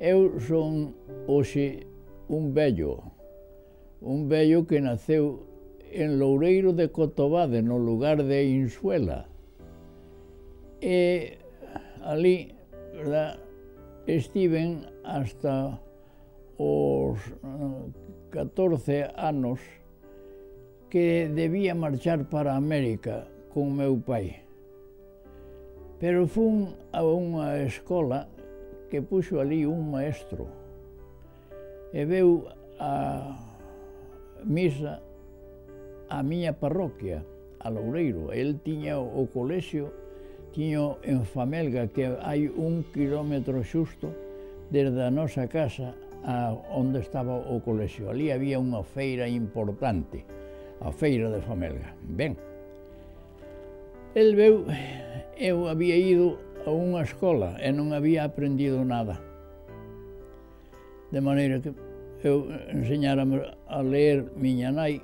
Eu son hoxe un vello que naceu en Loureiro de Cotobade, no lugar de Insuela. E ali, verdad, estiven hasta os 14 anos que debía marchar para América con meu pai. Pero fun a unha escola que puxo ali un maestro e veu a misa a miña parroquia, a Loureiro. El tiña o colexio, tiña en Famelga, que hai 1 kilómetro xusto desde a nosa casa a onde estaba o colexio. Ali había unha feira importante, a feira de Famelga. Ben, el veu, eu había ido a unha escola e non había aprendido nada. De maneira que eu enseñárame a ler miña nai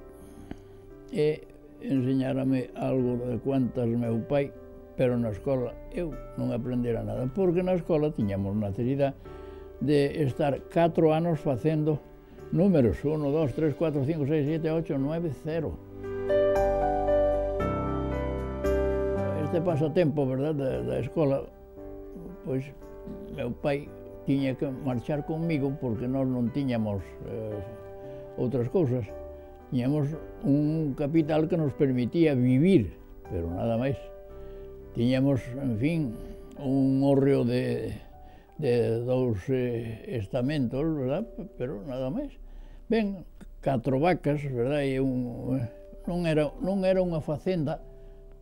e enseñárame algo de cuantas meu pai, pero na escola eu non aprendera nada, porque na escola tiñamos necesidade de estar 4 anos facendo números, 1, 2, 3, 4, 5, 6, 7, 8, 9, 0. Este pasatempo, verdad, da escola, pois, meu pai tiña que marchar comigo porque nós non tiñamos outras cousas. Tiñamos un capital que nos permitía vivir, pero nada máis. Tiñamos, en fin, un hórreo de 2 estamentos, verdad, pero nada máis. Ben, 4 vacas, verdad, e non era unha facenda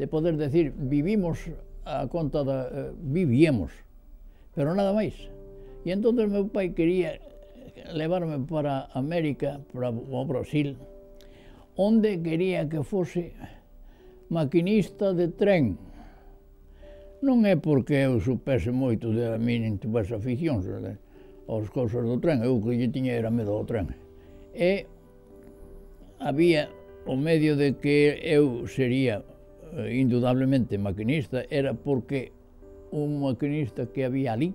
de poder decir, vivimos a conta vivíamos, pero nada máis. E entón meu pai quería levarme para América, para o Brasil, onde quería que fose maquinista de tren. Non é porque eu supese moito de a mí nin tivese aficións aos cousas do tren, eu que lle tiña era medo ao tren. E había o medio de que eu sería indudablemente maquinista, era porque un maquinista que había ali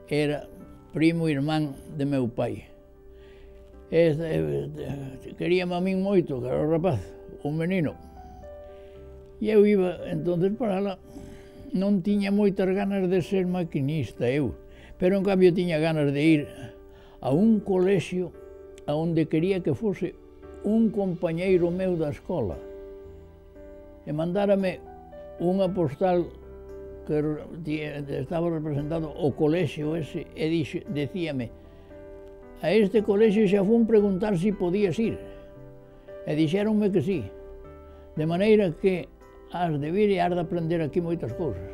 era primo irmán de meu pai. Queríame a min moito, que era o rapaz, un menino. E eu iba entonces para lá. Non tiña moitas ganas de ser maquinista eu, pero en cambio tiña ganas de ir a un colexio onde quería que fose un compañeiro meu da escola. E mandárame unha postal que estaba representado o colexio ese e decíame: a este colexio xa fun preguntar se podías ir. E dixéronme que sí. De maneira que has de vir e has de aprender aquí moitas cousas.